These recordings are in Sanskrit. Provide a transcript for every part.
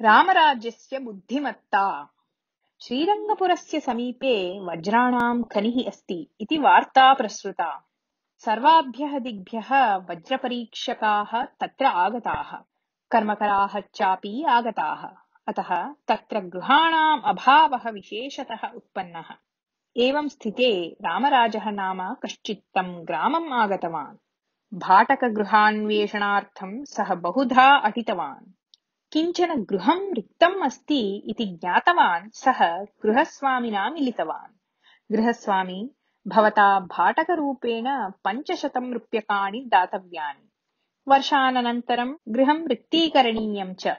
रामराज्यस्य बुद्धिमत्ता। श्रीरङ्गपुरस्य समीपे वज्राणां खनिः अस्ति इति वार्ता प्रसृता। सर्वाभ्यः दिग्भ्यः वज्रपरीक्षकाः तत्र आगताः, कर्मकराः चापि आगताः। अतः तत्र गृहाणाम् अभावः विशेषतः उत्पन्नः। एवं स्थिते रामराजः नाम कश्चित् तं ग्रामम् आगतवान्। भाटकगृहान्वेषणार्थं सः बहुधा अटितवान्। किञ्चन गृहं रिक्तम् अस्ति इति ज्ञातवान् सः गृहस्वामिना मिलितवान्। गृहस्वामी, भवता भाटकरूपेण 500 रूप्यकाणि दातव्यानि। वर्षानन्तरं गृहं रिक्तीकरणीयं च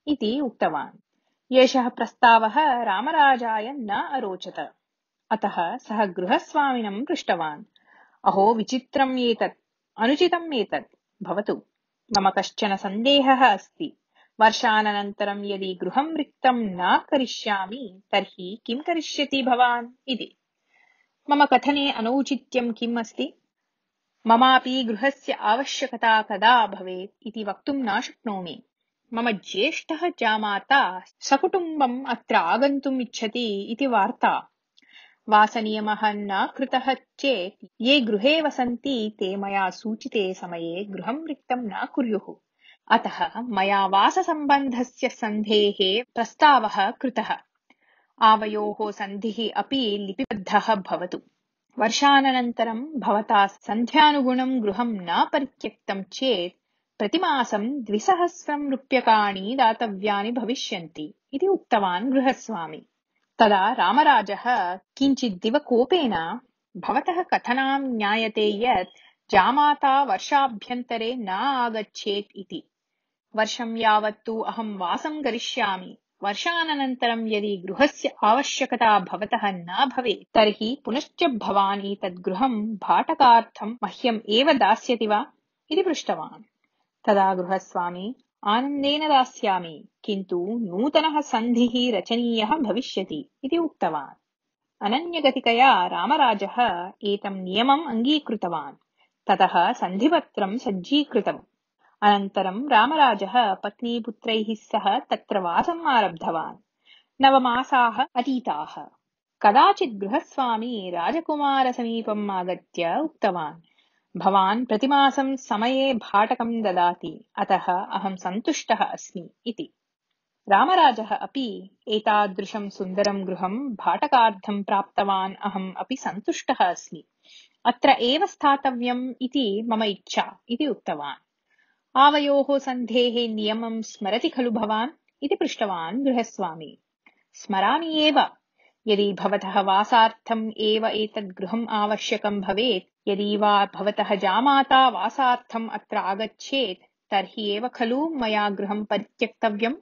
इति उक्तवान्। एषः प्रस्तावः रामराजाय न अरोचत। अतः सः गृहस्वामिनं पृष्टवान्, अहो विचित्रम् एतत्, अनुचितम् एतत्। भवतु, मम कश्चन सन्देहः अस्ति। वर्षानन्तरं यदि गृहं रिक्तं न करिष्यामि तर्हि किं करिष्यति भवान् इति। मम कथने अनौचित्यं किम् अस्ति? ममापि गृहस्य आवश्यकता कदा भवेत् इति वक्तुं न शक्नोमि। मम ज्येष्ठः जामाता सकुटुम्बम् अत्र आगन्तुम् इच्छति इति वार्ता। वासनियमः न कृतः चेत् ये गृहे वसन्ति ते मया सूचिते समये गृहं रिक्तं न कुर्युः। अतः मया वाससम्बन्धस्य सन्धेः प्रस्तावः कृतः। आवयोः सन्धिः अपि लिपिबद्धः भवतु। वर्षानन्तरं भवता सन्ध्यानुगुणं गृहं न परित्यक्तं चेत् प्रतिमासं 200 रूप्यकाणि दातव्यानि भविष्यन्ति इति उक्तवान् गृहस्वामी। तदा रामराजः किञ्चिद्दिव कोपेन, भवतः कथनां ज्ञायते यत् जामाता वर्षाभ्यन्तरे न आगच्छेत् इति। वर्षं यावत्तु अहं वासं करिष्यामि। वर्षानन्तरं यदि गृहस्य आवश्यकता भवतः न भवेत् तर्हि पुनश्च भवान् एतद् गृहं भाटकार्थं मह्यम् एव दास्यति वा इति पृष्टवान्। तदा गृहस्वामी, आनन्देन दास्यामि, किन्तु नूतनः सन्धिः रचनीयः भविष्यति इति उक्तवान्। अनन्यगतिकया रामराजः एतं नियमम् अङ्गीकृतवान्। ततः सन्धिपत्रं सज्जीकृतम्। अनन्तरं रामराजः पत्नीपुत्रैः सह तत्र वासम् आरब्धवान्। 9 मासाः अतीताः। कदाचित् गृहस्वामी राजकुमारसमीपम् आगत्य उक्तवान्, भवान् प्रतिमासं समये भाटकं ददाति, अतः अहं सन्तुष्टः अस्मि इति। रामराजः अपि, एतादृशं सुन्दरं गृहं भाटकार्थं प्राप्तवान्, अहम् अपि सन्तुष्टः अस्मि। अत्र एव स्थातव्यम् इति मम इच्छा इति उक्तवान्। आवयोः सन्धेः नियमं स्मरति खलु भवान् इति पृष्टवान् गृहस्वामी। स्मरामि एव। यदि भवतः वासार्थम् एव एतद् गृहम् आवश्यकं भवेत्, यदि वा भवतः जामाता वासार्थम् अत्र आगच्छेत् तर्हि एव खलु मया गृहं परित्यक्तव्यम्।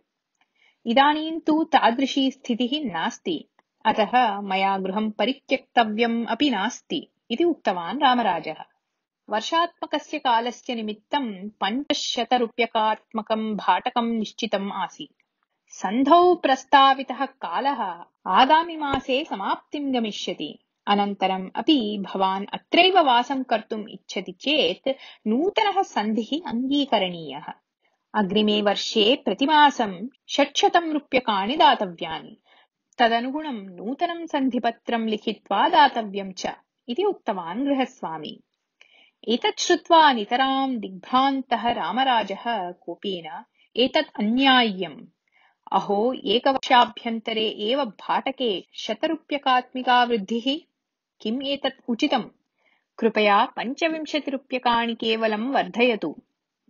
इदानीं तु तादृशी स्थितिः नास्ति, अतः मया गृहं परित्यक्तव्यम् अपि नास्ति इति उक्तवान् रामराजः। वर्षात्मकस्य कालस्य निमित्तं 500 रूप्यकात्मकं भाटकं निश्चितम् आसीत्। सन्धौ प्रस्तावितः कालः आगामिमासे समाप्तिं गमिष्यति। अनन्तरम् अपि भवान् अत्रैव वासं कर्तुम् इच्छति चेत् नूतनः सन्धिः अङ्गीकरणीयः। अग्रिमे वर्षे प्रतिमासं 600 रूप्यकाणि दातव्यानि। तदनुगुणं नूतनं सन्धिपत्रं लिखित्वा दातव्यं च इति उक्तवान् गृहस्वामी। एतत् श्रुत्वा नितरां दिग्भ्रान्तः रामराजः कोपेन, एतत् अन्याय्यम्। अहो, एकवर्षाभ्यन्तरे एव भाटके 100 रूप्यकात्मिका वृद्धिः, किम् एतत् उचितम्? कृपया 25 रूप्यकाणि केवलं वर्धयतु।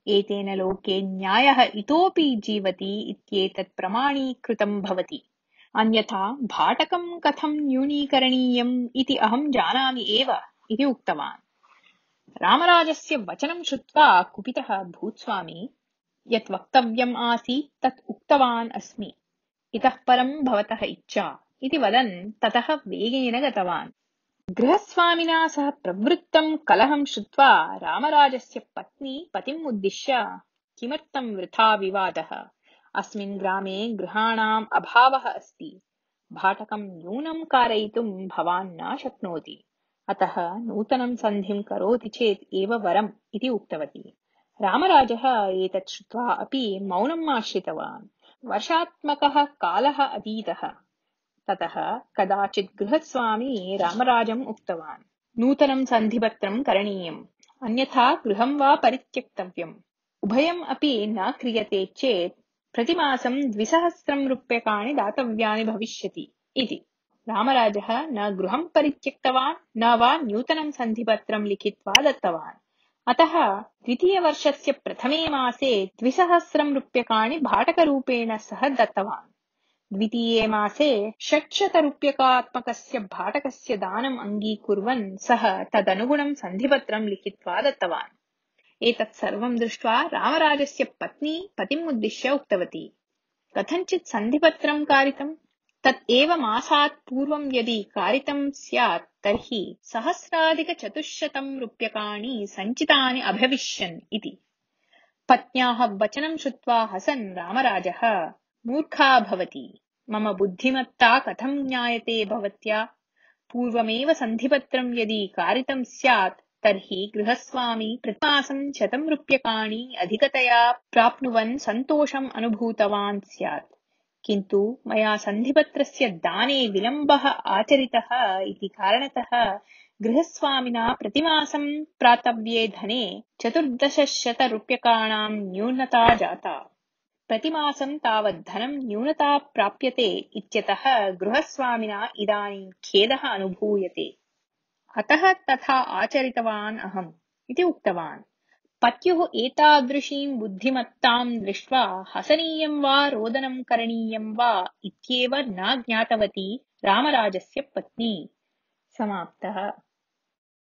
एतेन लोके न्यायः इतोपि जीवति इत्येतत् प्रमाणीकृतं भवति। अन्यथा भाटकं कथं न्यूनीकरणीयम् इति अहं जानामि एव इति उक्तवान्। रामराजस्य वचनं श्रुत्वा कुपितः भूस्वामी, यत् वक्तव्यम् आसीत् तत् उक्तवान् अस्मि, इतः परं भवतः इच्छा इति वदन् ततः वेगेन गतवान्। गृहस्वामिना सह प्रवृत्तं कलहं श्रुत्वा रामराजस्य पत्नी पतिम् उद्दिश्य, किमर्थं वृथा विवादः? अस्मिन् ग्रामे गृहाणाम् अभावः अस्ति। भाटकं न्यूनं कारयितुं भवान् न शक्नोति। अतः नूतनं सन्धिं करोति चेत् एव वरम् इति उक्तवती। रामराजः एतत् श्रुत्वा अपि मौनम् आश्रितवान्। वर्षात्मकः कालः अतीतः। ततः कदाचित् गृहस्वामी रामराजम् उक्तवान्, नूतनं सन्धिपत्रं करणीयम्, अन्यथा गृहं वा परित्यक्तव्यम्। उभयम् अपि न क्रियते चेत् प्रतिमासं 2,000 रूप्यकाणि दातव्यानि भविष्यति इति। रामराजः न गृहं परित्यक्तवान् न वा नूतनं सन्धिपत्रं लिखित्वा दत्तवान्। अतः द्वितीयवर्षस्य प्रथमे मासे 2,000 रूप्यकाणि भाटकरूपेण सः दत्तवान्। द्वितीये मासे 600 रूप्यकात्मकस्य भाटकस्य दानम् अङ्गीकुर्वन् सः तदनुगुणं सन्धिपत्रं लिखित्वा दत्तवान्। एतत् सर्वं दृष्ट्वा रामराजस्य पत्नी पतिम् उद्दिश्य उक्तवती, कथञ्चित् सन्धिपत्रं कारितम्, तत् एव मासात् पूर्वं यदि कारितं स्यात् तर्हि 1,400 रूप्यकाणि सञ्चितानि अभविष्यन् इति। पत्न्याः वचनं श्रुत्वा हसन् रामराजः, मूर्खा भवती, मम बुद्धिमत्ता कथं ज्ञायते भवत्या? पूर्वमेव सन्धिपत्रं यदि कारितं स्यात् तर्हि गृहस्वामी प्रतिमासं 100 रूप्यकाणि अधिकतया प्राप्नुवन् सन्तोषम् अनुभूतवान् स्यात्। किन्तु मया सन्धिपत्रस्य दाने विलम्बः आचरितः इति कारणतः गृहस्वामिना प्रतिमासं प्राप्तव्ये धने 1,400 रूप्यकाणां न्यूनता जाता। प्रतिमासं तावत् धनं न्यूनता प्राप्यते इत्यतः गृहस्वामिना इदानीं खेदः अनुभूयते। अतः तथा आचरितवान् अहम् इति उक्तवान्। पत्युः एतादृशीं बुद्धिमत्तां दृष्ट्वा हसनीयं वा रोदनं करणीयं वा इत्येव न ज्ञातवती रामराजस्य पत्नी। समाप्तः।